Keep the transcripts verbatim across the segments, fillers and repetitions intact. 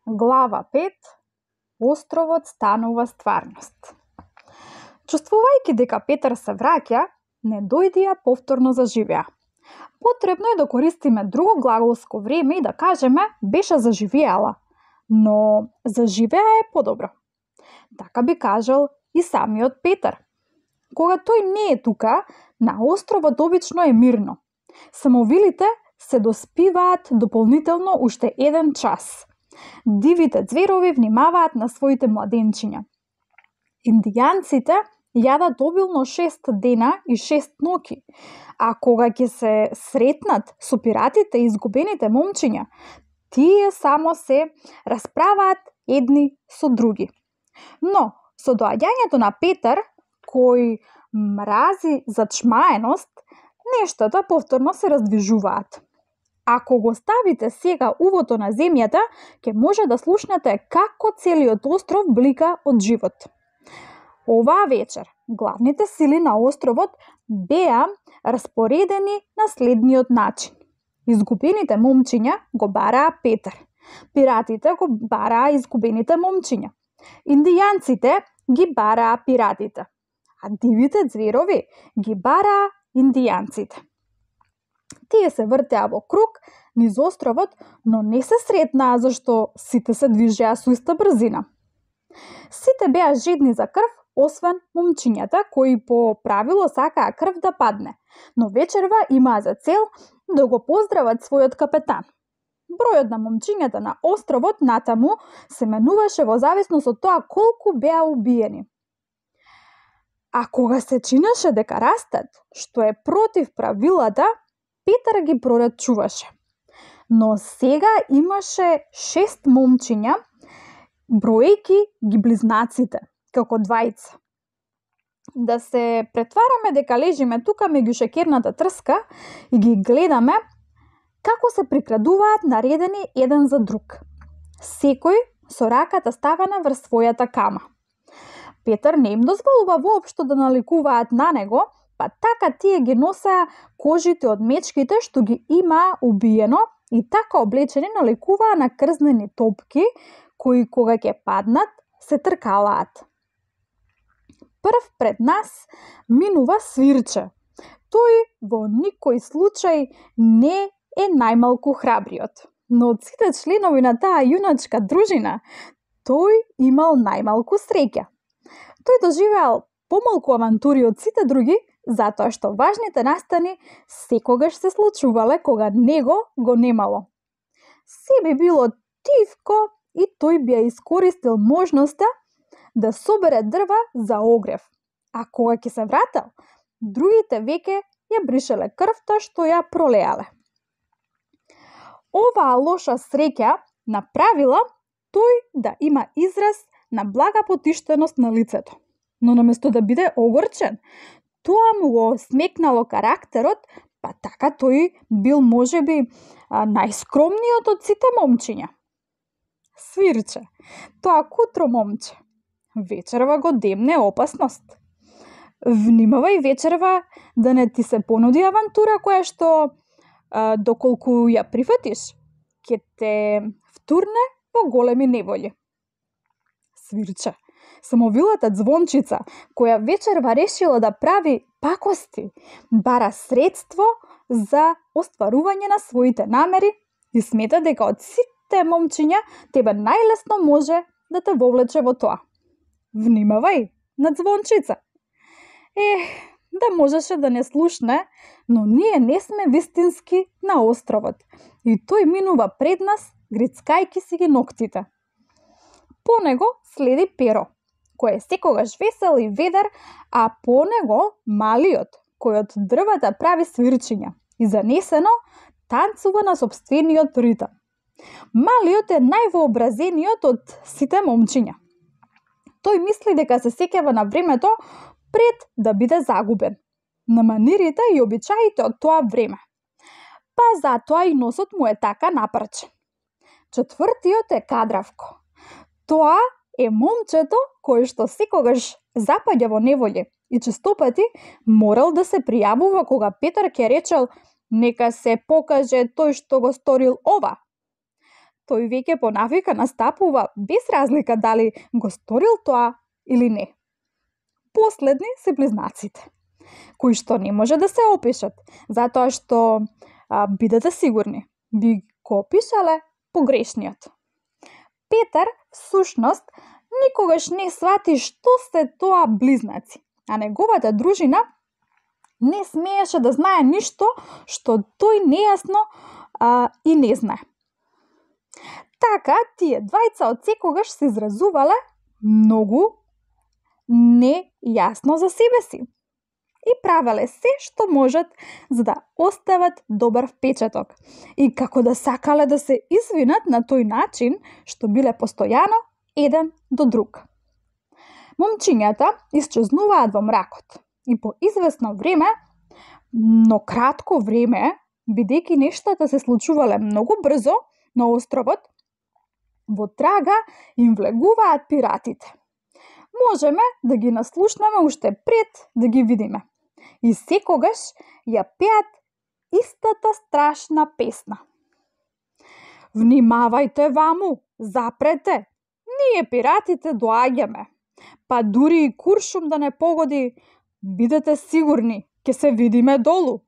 Глава пет. Островот станува стварност. Чувствувајќи дека Петар се враќа, не дојдија повторно заживеа. Потребно е да користиме друго глаголско време и да кажеме беше заживеала, но заживеа е подобро. Така би кажал и самиот Петар. Кога тој не е тука, на островот обично е мирно. Самовилите се доспиваат дополнително уште еден час. Дивите ѕверови внимаваат на своите младенчиња. Индијанците јадат обилно шест дена и шест ноќи, а кога ќе се сретнат со пиратите и изгубените момчиња, тие само се расправаат едни со други. Но, со доаѓањето на Петар, кој мрази зачмаеност, нештата повторно се раздвижуваат. Ако го ставите сега увото на земјата, ќе може да слушнете како целиот остров блика од живот. Оваа вечер, главните сили на островот беа распоредени на следниот начин. Изгубените момчиња го бараа Петар. Пиратите го бараа изгубените момчиња. Индијанците ги бараа пиратите. А дивите ѕверови ги бараа индијанците. Тие се вртеа во круг низ островот, но не се сретнаа зашто сите се движеа со иста брзина. Сите беа жедни за крв, освен момчињата кои по правило сакаа крв да падне, но вечерва имаа за цел да го поздрават својот капетан. Бројот на момчињата на островот натаму се менуваше во зависност од тоа колку беа убиени. А кога се чинеше дека растат, што е против правилата, Петар ги прорачуваше. Но сега имаше шест момчиња, броејки ги близнаците, како двајца. Да се претвараме дека лежиме тука меѓу шеќерната трска и ги гледаме како се прикрадуваат наредени еден за друг. Секој со раката ставена врз својата кама. Петар не им дозволува воопшто да наликуваат на него, па така тие ги носеа кожите од мечките што ги имаа убиено и така облечени наликуваа на крзнени топки кои кога ќе паднат се тркалаат. Прв пред нас минува Свирче. Тој во никој случај не е најмалку храбриот, но од сите членови на таа јуначка дружина, тој имал најмалку среќа. Тој доживеал помалку авантури од сите други, затоа што важните настани секогаш се случувале кога него го немало. Се би било тивко и тој би ја искористил можноста да собере дрва за огрев. А кога ќе се врател, другите веќе ја бришеле крвта што ја пролеале. Оваа лоша среќа направила тој да има израз на блага потиштеност на лицето. Но наместо да биде огорчен, тоа му го смекнало карактерот, па така тој бил можеби најскромниот од сите момчиња. Свирче, тоа кутро момче, вечерва го демне опасност. Внимавај вечерва да не ти се понуди авантура која што, а, доколку ја прифатиш, ќе те втурне во големи неволји. Свирче, самовилата Звончица, која вечерва решила да прави пакости, бара средство за остварување на своите намери и смета дека од сите момчиња тебе најлесно може да те вовлече во тоа. Внимавај на Звончица. Е, да можеше да не слушне, но ние не сме вистински на островот и тој минува пред нас, грицкајки си ги ноктите. По него следи Перо, кој е секогаш весел и ведар, а по него Малиот, кој од дрвата прави свирчиња и занесено танцува на сопствениот ритам. Малиот е највообразениот од сите момчиња. Тој мисли дека се сеќава на времето пред да биде загубен, на манирите и обичаите од тоа време. Па затоа и носот му е така напрчен. Четвртиот е Кадравко. Тоа е момчето кое што секогаш запаѓа во неволје и честопати морал да се пријавува кога Петар ќе речел нека се покаже тој што го сторил ова. тој веќе по навика настапува без разлика дали го сторил тоа или не. Последни се близнаците, кои што не може да се опишат, затоа што, а, бидете сигурни, би го опишале погрешниот. Петар, всушност, никогаш не свати што се тоа близнаци, а неговата дружина не смееше да знае ништо што тој нејасно а, и не знае. Така, тие двајца од секогаш се изразувале многу нејасно за себе си и правеле се што можат за да остават добар впечаток и како да сакале да се извинат на тој начин што биле постојано еден до друг. Момчињата исчезнуваат во мракот и по известно време, но кратко време, бидејќи нештата се случувале многу брзо на островот, во трага им влегуваат пиратите. Можеме да ги наслушнеме уште пред да ги видиме. И секогаш ја пеат истата страшна песна. Внимавајте ваму, запрете, ние пиратите доаѓаме. Па дури и куршум да не погоди, бидете сигурни, ќе се видиме долу.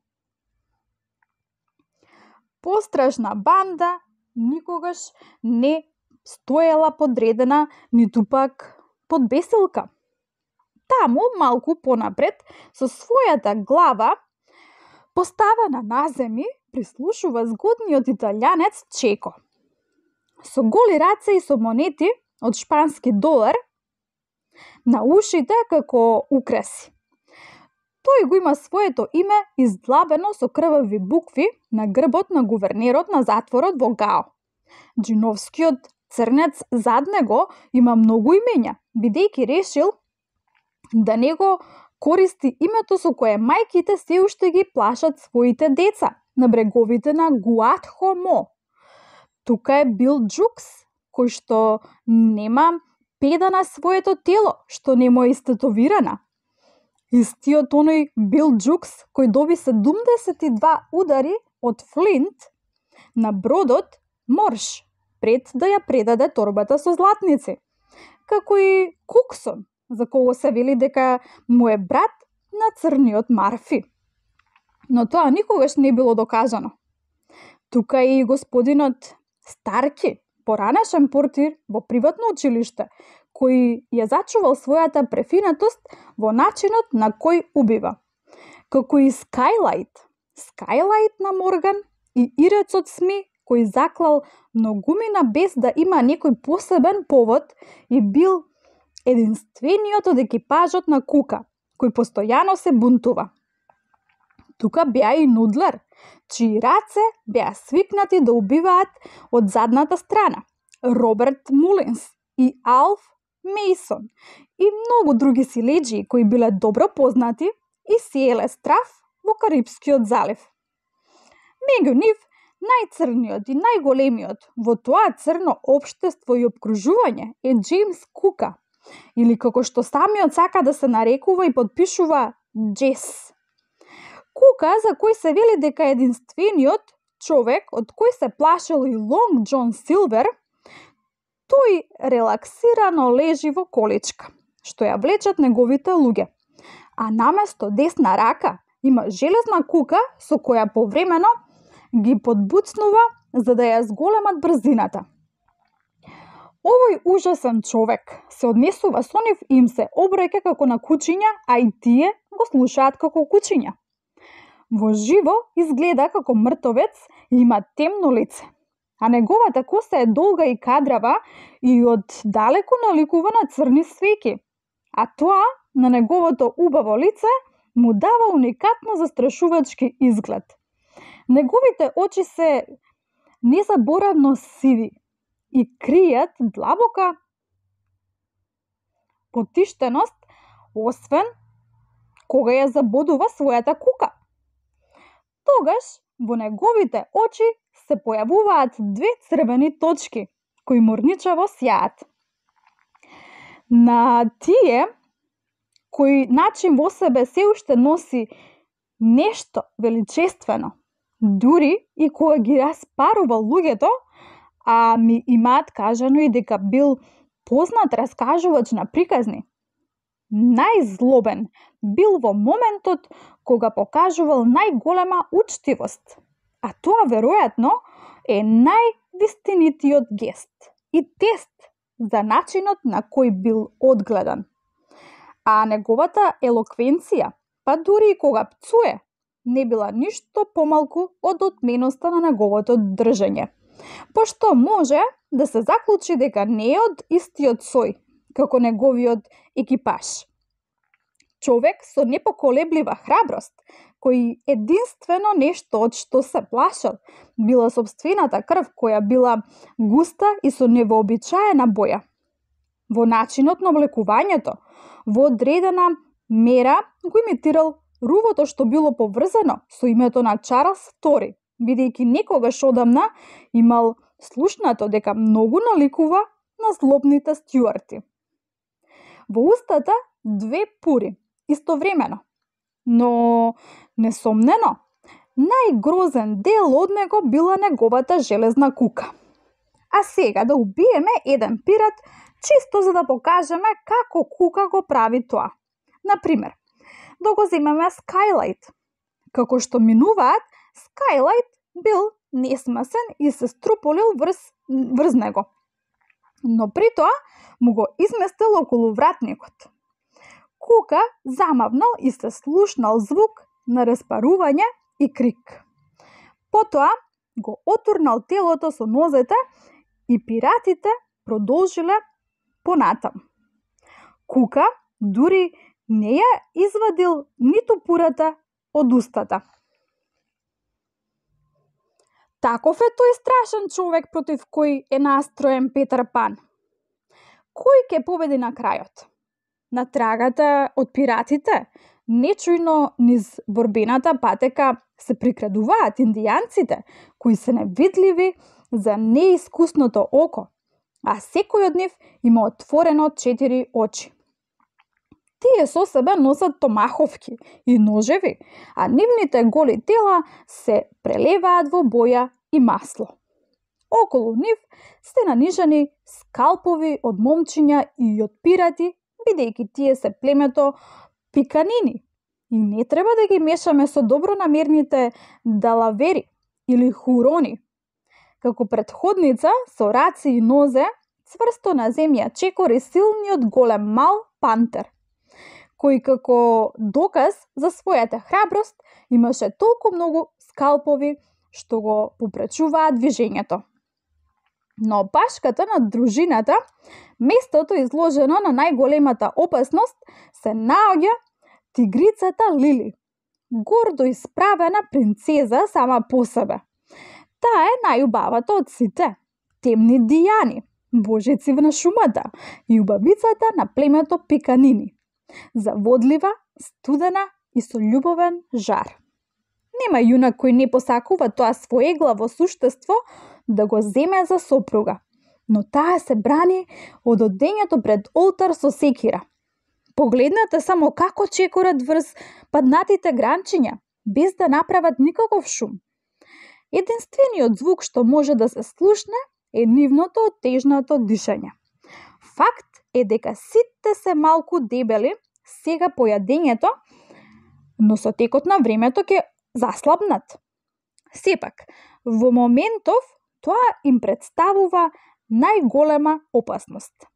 Пострашна банда никогаш не стоела подредена, ниту пак под бесилка. Таму, малку понапред, со својата глава поставена на земи, прислушува згодниот италијанец Чеко. Со голи раце и со монети од шпански долар на ушите како украси. Тој го има своето име издлабено со крвави букви на грбот на гувернерот на затворот во Гао. Джиновскиот црнец зад него има многу имења, бидејќи решил да не го користи името со кое мајките се уште ги плашат своите деца на бреговите на Гуатхомо. Тука е Бил Джукс, кој што нема педа на своето тело, што не му е истетовирана. Истиот оној Бил Джукс, кој доби седумдесет и два удари од Флинт на бродот Морш, пред да ја предаде торбата со златници. Како и Куксон, за кого се вели дека му е брат на црниот Марфи. Но тоа никогаш не било докажано. Тука и господинот Старки, поранешен портир во приватно училиште, кој ја зачувал својата префинатост во начинот на кој убива. Како и Скайлайт, Скайлайт на Морган и Ирецот Сми, кој заклал многумина без да има некој посебен повод и бил единствениот од екипажот на Кука, кој постојано се бунтува. Тука беа и Нудлер, чии раце беа свикнати да убиваат од задната страна, Роберт Мулинс и Алф Мейсон и многу други силеџии кои биле добро познати и сееле страв во Карипскиот залив. Меѓу нив, најцрниот и најголемиот во тоа црно општество и обкружување е Джеймс Кука, или како што самиот сака да се нарекува и подпишува Джес. Кука, за кој се вели дека е единствениот човек од кој се плашел и Лонг Џон Силвер, тој релаксирано лежи во количка, што ја влечат неговите луѓе, а наместо десна рака има железна кука со која повремено ги подбуцнува за да ја зголемат брзината. Овој ужасен човек се однесува со нив и им се обраќа како на кучиња, а и тие го слушаат како кучиња. Во живо изгледа како мртовец и има темно лице, а неговата коса е долга и кадрава и од далеку наликува на црни свеќи, а тоа на неговото убаво лице му дава уникатно застрашувачки изглед. Неговите очи се незаборавно сиви и кријат длабока потиштеност, освен кога ја забодува својата кука. Тогаш во неговите очи се појавуваат две црвени точки, кои морничаво сјаат. На тие, кој начин во себе се уште носи нешто величествено, дури и кога ги распарува луѓето, а ми имаат кажано и дека бил познат раскажувач на приказни. Најзлобен бил во моментот кога покажувал најголема учтивост, а тоа веројатно е највистинитиот гест и тест за начинот на кој бил одгледан. А неговата елоквенција, па дури и кога пцуе, не била ништо помалку од отменоста на неговото држење, пошто може да се заклучи дека не е од истиот сој како неговиот екипаж. Човек со непоколеблива храброст, кој единствено нешто од што се плашал била сопствената крв која била густа и со невообичаена боја. Во начинот на облекувањето, во одредена мера го имитирал рувото што било поврзано со името на Чарлс втори, бидејќи некогаш одамна имал слушнато дека многу наликува на злобните стюарти. Во устата две пури, истовремено, но несомнено, најгрозен дел од него била неговата железна кука. А сега да убиеме еден пират, чисто за да покажеме како кука го прави тоа. Например, да го земеме Скайлайт. Како што минуваат, Скайлайт бил несмасен и се струполил врз, врз него. Но при тоа му го изместил околу вратникот. Кука замавнал и се слушнал звук на распарување и крик. Потоа го отурнал телото со нозете и пиратите продолжиле понатам. Кука дури не ја извадил ниту пурата од устата. Таков е тој страшен човек против кој е настроен Петер Пан. Кој ќе победи на крајот? На трагата од пиратите, нечујно низ борбената патека се прикрадуваат индијанците, кои се невидливи за неискусното око, а секој од нив има отворено четири очи. Тие со себе носат томаховки и ножеви, а нивните голи тела се прелеваат во боја и масло. Околу нив се нанижани скалпови од момчиња и од пирати, бидејќи тие се племето пиканини и не треба да ги мешаме со добронамерните далавери или хурони. Како претходница со раци и нозе, цврсто на земја чекори силниот голем мал пантер, кој како доказ за својата храброст имаше толку многу скалпови што го попречуваат движењето. На опашката на дружината, местото изложено на најголемата опасност, се наоѓа тигрицата Лили, гордо исправена принцеза сама по себе. Таа е најубавата од сите, темни Дијани, божици на шумата и убавицата на племето Пиканини. Заводлива, студена и со љубовен жар. Нема јунак кој не посакува тоа своеглаво суштество да го земе за сопруга, но таа се брани од одењето пред олтар со секира. Погледнете само како чекорат врз паднатите гранчиња, без да направат никаков шум. Единствениот звук што може да се слушне е нивното оттежнато дишање. Факт е дека сите се малку дебели сега по јадењето, но со текот на времето ќе заслабнат. Сепак, во моментов тоа им представува најголема опасност.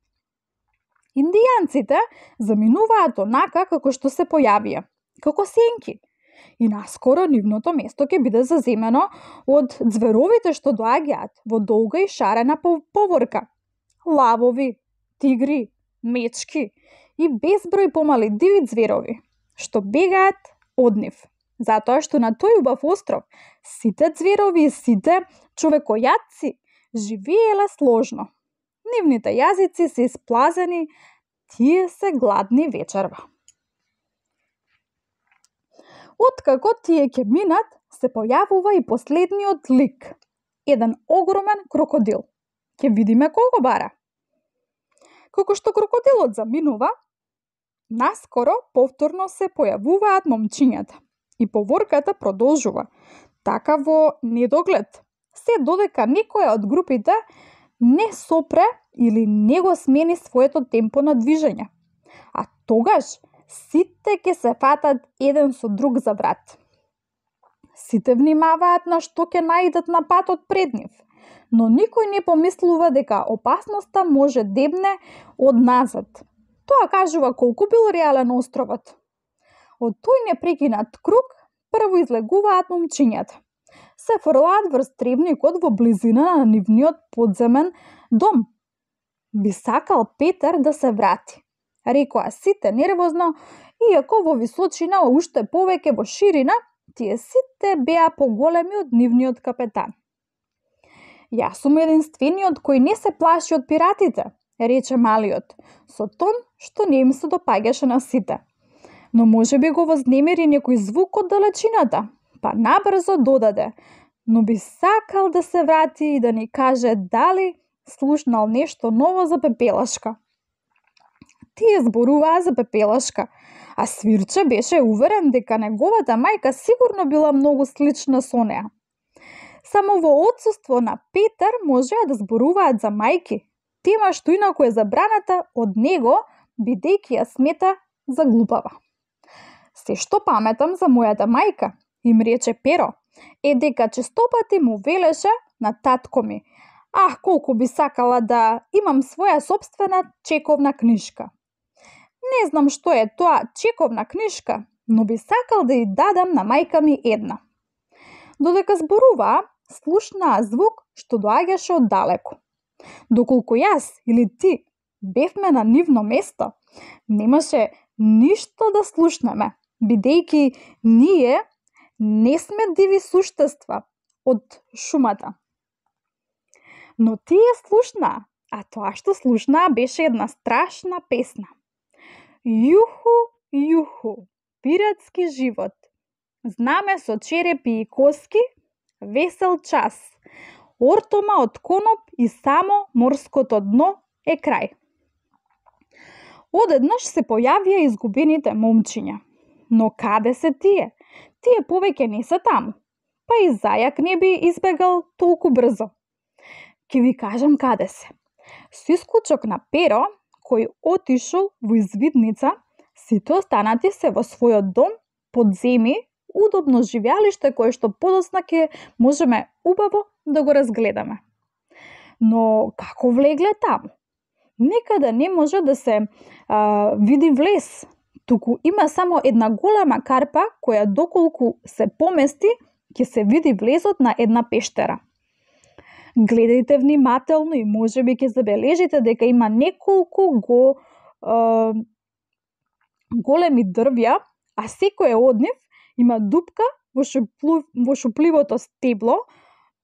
Индијанците заминуваат онака како што се појавија, како сенки, и наскоро нивното место ќе биде заземено од ѕверовите што доаѓаат во долга и шарена поворка. Лавови, тигри, мечки и безброј помали диви ѕверови, што бегаат од нив, затоа што на тој убав остров сите ѕверови и сите човекојатци живееле сложно. Нивните јазици се исплазени, тие се гладни вечерва. Откако тие ќе минат, се појавува и последниот лик. Еден огромен крокодил. Ќе видиме кого бара. Како што крокодилот заминува, наскоро повторно се појавуваат момчињата и поворката продолжува, така во недоглед, се додека некоја од групите не сопре или не го смени своето темпо на движење. А тогаш сите ќе се фатат еден со друг за врат. Сите внимаваат на што ќе наидат на патот пред нив, но никој не помислува дека опасноста може дебне од назад. Тоа кажува колку бил реален островот. Од тој непрекинат круг прво излегуваат момчињата. Се фрлаат врз тревникот во близина на нивниот подземен дом. Би сакал Петар да се врати, рекоа сите нервозно, иако во височина уште повеќе во ширина, тие сите беа поголеми од нивниот капетан. Јас сум единствениот кој не се плаши од пиратите, рече малиот, со тон што не им се допаѓаше на сите. Но може би го вознемири некој звук од далечината, па набрзо додаде, но би сакал да се врати и да ни каже дали слушнал нешто ново за Пепелашка. Тие зборуваа за Пепелашка, а Свирче беше уверен дека неговата мајка сигурно била многу слична со неа. Само во отсуство на Петар можеа да зборуваат за мајки, тема што инаку е забраната од него, бидејќи ја смета за глупава. Се што паметам за мојата мајка, им рече Перо, е дека честопати му велеше на татко ми: "Ах, колку би сакала да имам своја собствена чековна книжка." Не знам што е тоа чековна книжка, но би сакал да ја дадам на мајка ми една. Додека зборуваа, слушнаа звук што доаѓаше од далеку. Доколку јас или ти бевме на нивно место, немаше ништо да слушнеме, бидејќи ние не сме диви суштества од шумата. Но тие слушнаа, а тоа што слушнаа беше една страшна песна. Јуху, јуху, пиратски живот, знаме со черепи и коски, весел час, ортома од коноп и само морското дно е крај. Одеднаш се појавија изгубените момчиња. Но каде се тие? Тие повеќе не се таму. Па и зајак не би избегал толку брзо. Ке ви кажам каде се. Со исклучок на Перо, кој отишол во извидница, сите останати се во својот дом, под земи, удобно живеалиште кое што подоцна ќе можеме убаво да го разгледаме. Но како влегле таму? Никаде не може да се а, види влез, туку има само една голема карпа која доколку се помести ќе се види влезот на една пештера. Гледајте внимателно и можеби ќе забележите дека има неколку го а, големи дрвја, а секој од нив има дупка во, шуплу, во шупливото стебло,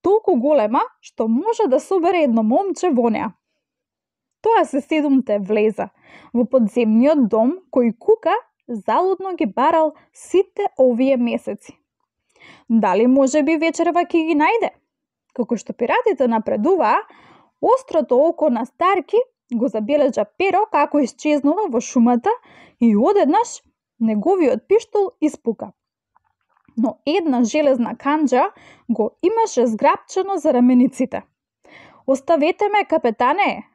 толку голема што може да собере едно момче во неа. Тоа се седумте влеза во подземниот дом кој Кука залудно ги барал сите овие месеци. Дали може би вечерва ќе ги најде? Како што пиратите напредуваа, острото око на Старки го забележа Перо како исчезнува во шумата и одеднаш неговиот пиштол испука. Но една железна канџа го имаше зграпчено за рамениците. "Оставете ме, капетане!"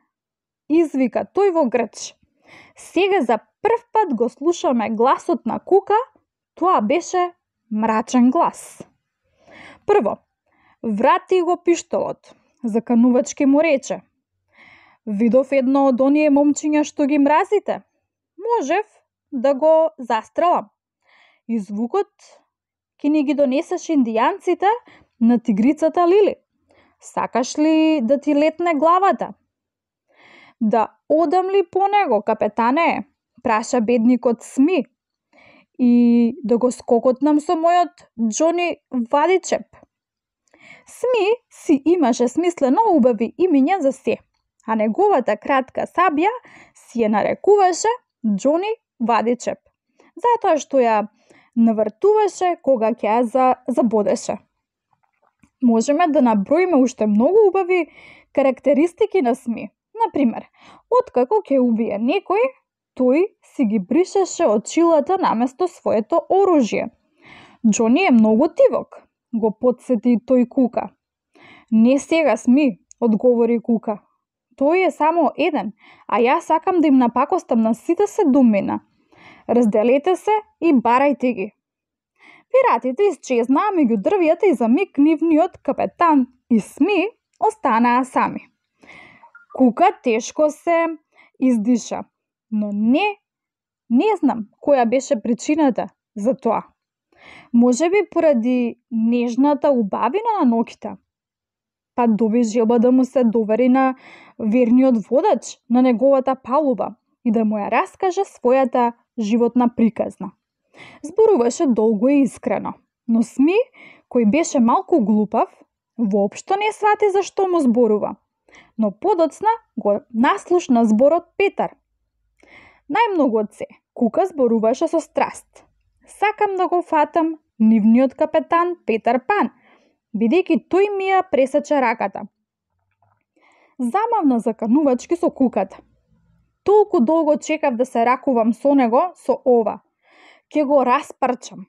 извика тој во грч. Сега за прв пат го слушаме гласот на Кука, тоа беше мрачен глас. Прво, врати го пиштолот, заканувачки му рече. Видов едно од оние момчиња што ги мразите. Можев да го застрелам. И звукот ќе ни ги донесеш индијанците на тигрицата Лили. Сакаш ли да ти летне главата? Да одам ли по него, капетане? Праша бедникот Сми. И да го скокотнам со мојот Џони Вадичеп. Сми си имаше смислено убави имиња за се, а неговата кратка сабја си ја нарекуваше Џони Вадичеп, затоа што ја навртуваше кога ќе ја за, забодеше. Можеме да наброиме уште многу убави карактеристики на Сми. Например, откако ќе убие некој, тој си ги бришеше очилата наместо своето оружје. Џони е многу тивок, го потсети тој Кука. Не сега Сми, одговори Кука. Тој е само еден, а јас сакам да им напакостам на сите седумина. Разделете се и барајте ги. Пиратите исчезнаа меѓу дрвјата и за миг нивниот капетан и Сми останаа сами. Кука тешко се издиша, но не, не знам која беше причината за тоа. Можеби поради нежната убавина на ноќта. Па доби желба да му се довери на верниот водач на неговата палуба и да му ја раскаже својата животна приказна. Зборуваше долго и искрено, но Сми, кој беше малку глупав, воопшто не свати зашто му зборува, но подоцна го наслушна зборот Петар. Најмногу од се, Кука зборуваше со страст. Сакам да го фатам нивниот капетан Петар Пан, бидејќи тој ми ја пресече раката. Замавна заканувачки со Куката. Толку долго чекав да се ракувам со него со ова. Ке го распарчам.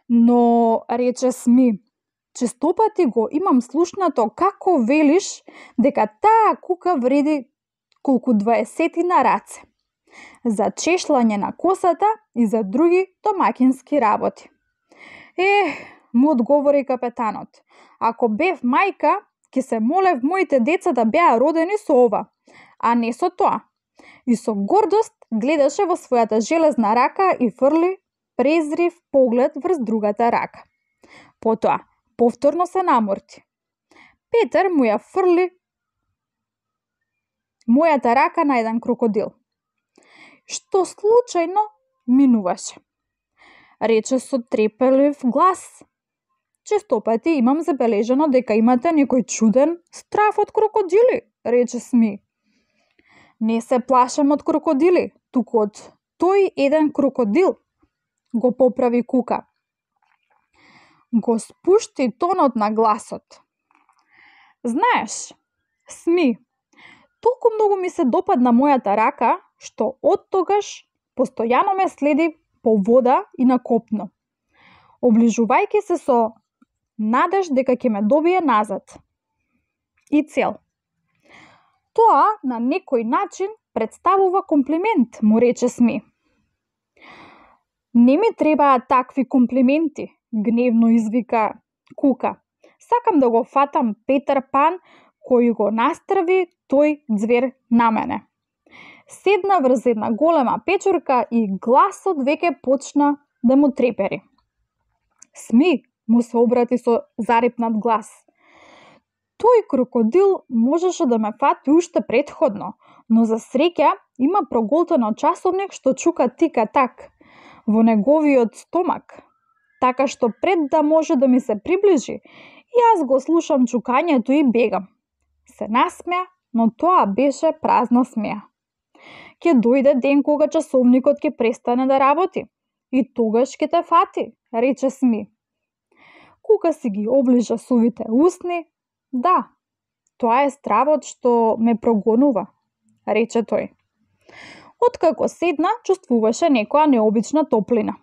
Но, рече Сми, честопати го имам слушнато како велиш дека таа кука вреди колку дваесетина раце. За чешлање на косата и за други домаќински работи. Е, му одговори капетанот, ако бев мајка, ќе се молев моите деца да беа родени со ова, а не со тоа. И со гордост гледаше во својата железна рака и фрли презрив поглед врз другата рака. Потоа, повторно се наморти. Петар му ја фрли мојата рака на еден крокодил, што случајно минуваше. Рече со трепелив глас. Честопати имам забележано дека имате некој чуден страф од крокодили, рече Сми. Не се плашам од крокодили, туку од тој еден крокодил, го поправи Кука. Го спушти тонот на гласот. Знаеш, Сми, толку многу ми се допадна мојата рака, што оттогаш постојано ме следи по вода и на копно, оближувајќи се со надеж дека ќе ме добие назад. И цел. Тоа на некој начин представува комплимент, му рече Сми. Не ми требаат такви комплименти, гневно извика Кука. Сакам да го фатам Петар Пан кој го настрви тој ѕвер на мене. Седна врз една голема печурка и гласот веќе почна да му трепери. Сми, му се обрати со зарипнат глас. Тој крокодил можеше да ме фати уште претходно, но за среќа има проголтено часовник што чука тика-так во неговиот стомак, така што пред да може да ми се приближи, јас го слушам чукањето и бегам. Се насмеа, но тоа беше празна смеа. Ќе дојде ден кога часовникот ќе престане да работи и тогаш ќе те фати, рече Сми. Кука си ги оближа сувите усни. Да, тоа е стравот што ме прогонува, рече тој. Откако седна, чувствуваше некоја необична топлина.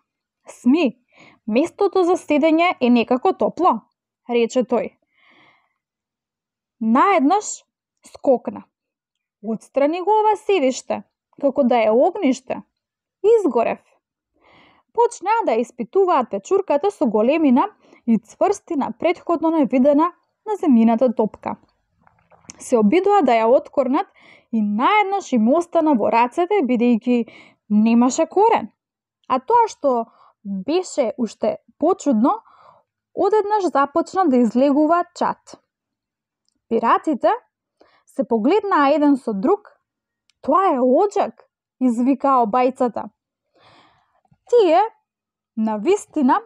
Сми, местото за седење е некако топло, рече тој. Наеднаш скокна. Отстрани го ова седиште, како да е огниште. Изгорев. Почнаа да испитуваат печурката со големина и цврстина претходно невидена на земјината топка. Се обидоа да ја откорнат и наеднаш им остана во рацете бидејќи немаше корен. А тоа што беше уште почудно, одеднаш започна да излегува чат. Пиратите се погледнаа еден со друг. Тоа е оџак, извикаа обајцата. Тие, навистина,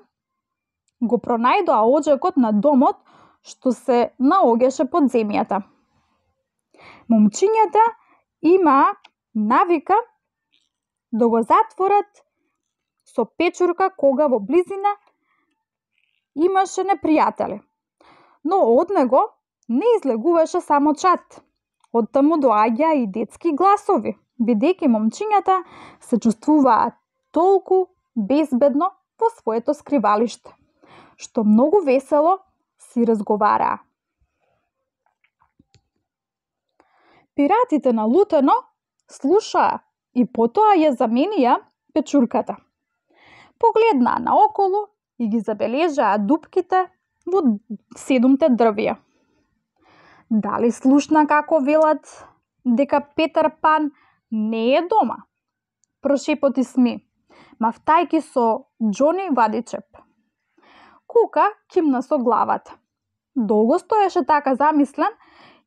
го пронајдоа оџакот на домот што се наоѓаше под земјата. Момчињата имаа навика да го затворат со печурка кога во близина имаше непријатели. Но од него не излегуваше само чат. Оттаму доаѓаа и детски гласови, бидејќи момчињата се чувствуваат толку безбедно во своето скривалиште, што многу весело си разговараа. Пиратите налутено слушаа и потоа ја заменија печурката. Погледнаа наоколу и ги забележаа дупките во седумте дрвја. Дали слушна како велат дека Петар Пан не е дома? Прошепоти Сми, мавтајки со Џони Вадичеп. Кука кимна со главата. Долго стоеше така замислен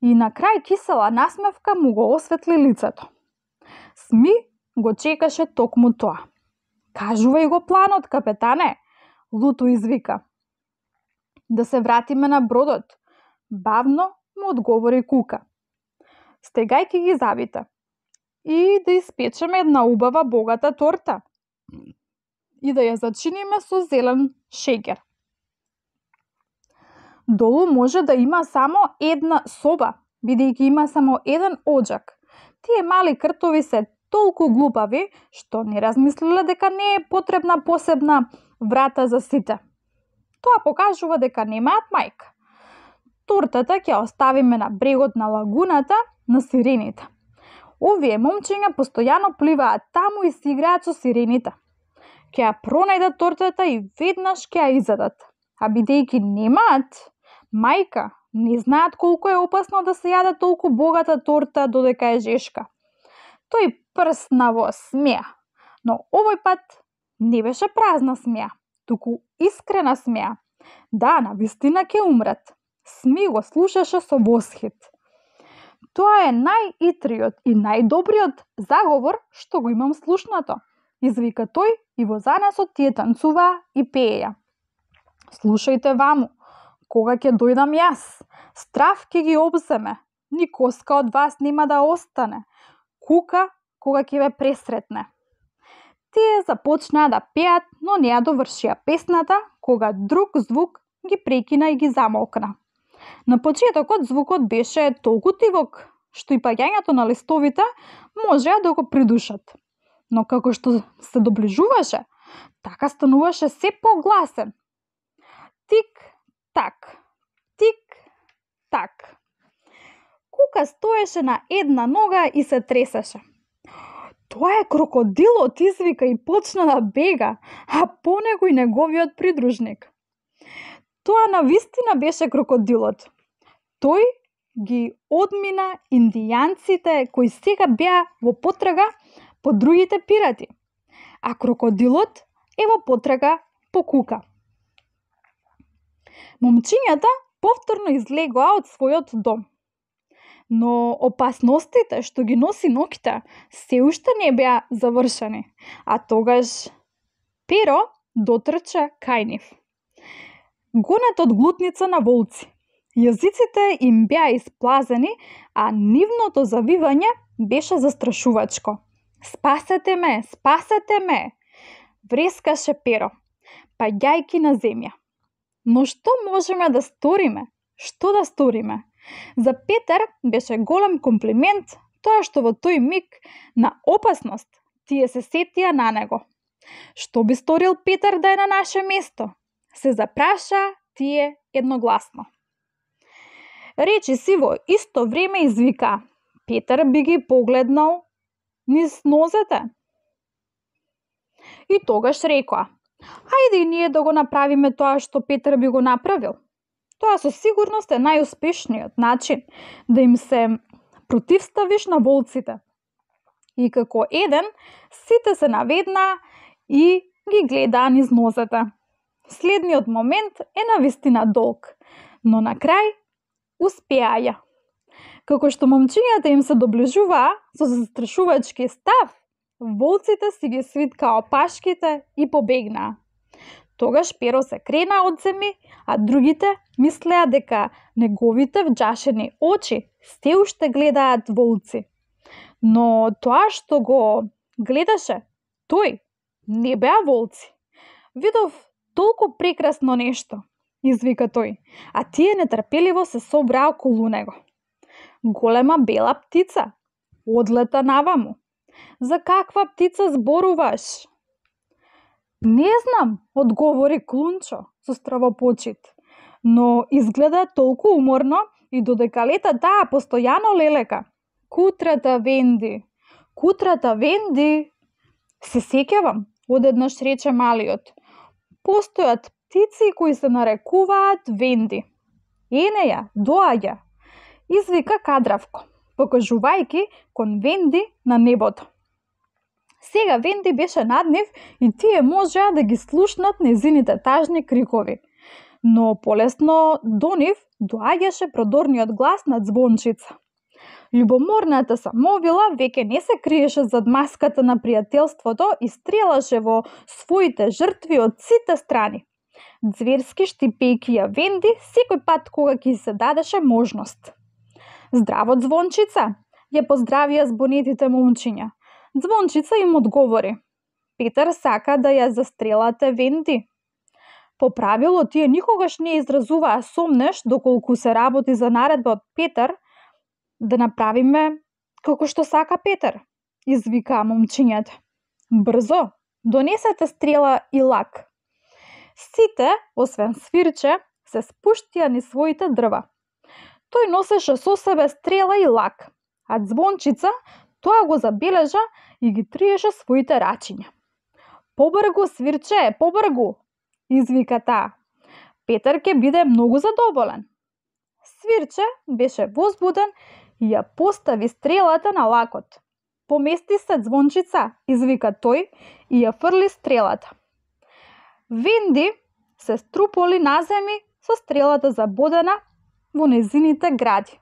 и на крај кисела насмевка му го осветли лицето. Сми го чекаше токму тоа. Кажувај го планот, капетане, луто извика. Да се вратиме на бродот, бавно му одговори Кука. Стегајки ги забите и да испечеме една убава богата торта и да ја зачиниме со зелен шеќер. Долу може да има само една соба, бидејќи има само еден оџак. Тие мали кртови се толку глупави, што не размислиле дека не е потребна посебна врата за сите. Тоа покажува дека немаат мајка. Тортата ќе оставиме на брегот на лагуната на сирените. Овие момчиња постојано пливаат таму и си играат со сирените. Ќе ја пронајдат тортата и веднаш ќе ја изедат. А бидејќи немаат мајка, не знаат колку е опасно да се јаде толку богата торта додека е жешка. Тој прсна во смеа, но овој пат не беше празна смеа, туку искрена смеа. Да, навистина ќе умрат. Сми го слушаше со восхит. Тоа е најитриот и најдобриот заговор што го имам слушнато, извика тој и во занесот тие танцуваа и пееја. Слушајте ваму, кога ќе дојдам јас, страв ќе ги обземе, ни коска од вас нема да остане. Кука кога ќе ве пресретне. Тие започнаа да пеат, но не ја довршија песната, кога друг звук ги прекина и ги замолкна. На почетокот звукот беше толку тивок, што и паѓањето на листовите можеа да го придушат. Но како што се доближуваше, така стануваше се погласен. Тик-так, тик-так. Кука стоеше на една нога и се тресеше. Тоа е крокодилот, извика и почна да бега, а по него и неговиот придружник. Тоа навистина беше крокодилот. Тој ги одмина индијанците кои сега беа во потрага по другите пирати, а крокодилот е во потрага по Кука. Момчињата повторно излегоа од својот дом. Но опасностите што ги носи ноќта се уште не беа завршени, а тогаш Перо дотрча кај нив. Гонет од глутница на волци. Јазиците им беа исплазени, а нивното завивање беше застрашувачко. Спасете ме, спасете ме, врескаше Перо, паѓајки на земја. Но што можеме да сториме? Што да сториме? За Петар беше голем комплимент тоа што во тој миг на опасност тие се сетија на него. Што би сторил Петар да е на наше место? Се запраша тие едногласно. Речи си во исто време извика. Петар би ги погледнал низ нозете. И тогаш рекоа: ајде и ние да го направиме тоа што Петар би го направил. Тоа со сигурност е најуспешниот начин да им се противставиш на волците. И како еден, сите се наведнаа и ги гледаа низ нозете. Следниот момент е навистина долг, но на крај успеаја. Како што момчињата им се доближуваа со застрашувачки став, волците си ги свиткаа опашките и побегнаа. Тогаш Перо се крена од земи, а другите мислеа дека неговите вџашени очи се уште гледаат волци. Но тоа што го гледаше, тој не беа волци. Видов толку прекрасно нешто, извика тој, а тие нетрпеливо се собраа околу него. Голема бела птица одлета наваму. За каква птица зборуваш? Не знам, одговори Клунчо со стравопочит, но изгледа толку уморно и додека лета таа постојано лелека. Кутрата Венди, кутрата Венди, се сеќавам, одеднаш рече малиот. Постојат птици кои се нарекуваат Венди. Ене ја, доаѓа, извика Кадравко, покажувајќи кон Венди на небото. Сега Венди беше над нив и тие можеа да ги слушнат незините тажни крикови. Но полесно до нив доаѓаше продорниот глас на Звончица. Љубоморната самовила веќе не се криеше зад маската на пријателството и стрелаше во своите жртви од сите страни. Зверски штипејќи ја Венди секој пат кога ќе се дадеше можност. Здраво, Звончица, ја поздравија збонетите момчиња. Звончица им одговори: Петар сака да ја застрелате Венди. По правило, тие никогаш не изразуваа сомнеш доколку се работи за наредба од Петар, да направиме како што сака Петар, извикаа момчињата. Брзо, донесете стрела и лак. Сите, освен Свирче, се спуштија низ своите дрва. Тој носеше со себе стрела и лак, а Звончица тоа го забележа и ги триеше своите рачиња. Побргу, Свирче, побргу, извика таа. Петар ќе биде многу задоволен. Свирче беше возбуден и ја постави стрелата на лакот. Помести се, Звончица, извика тој и ја фрли стрелата. Венди се струполи на земји со стрелата забодена во незините гради.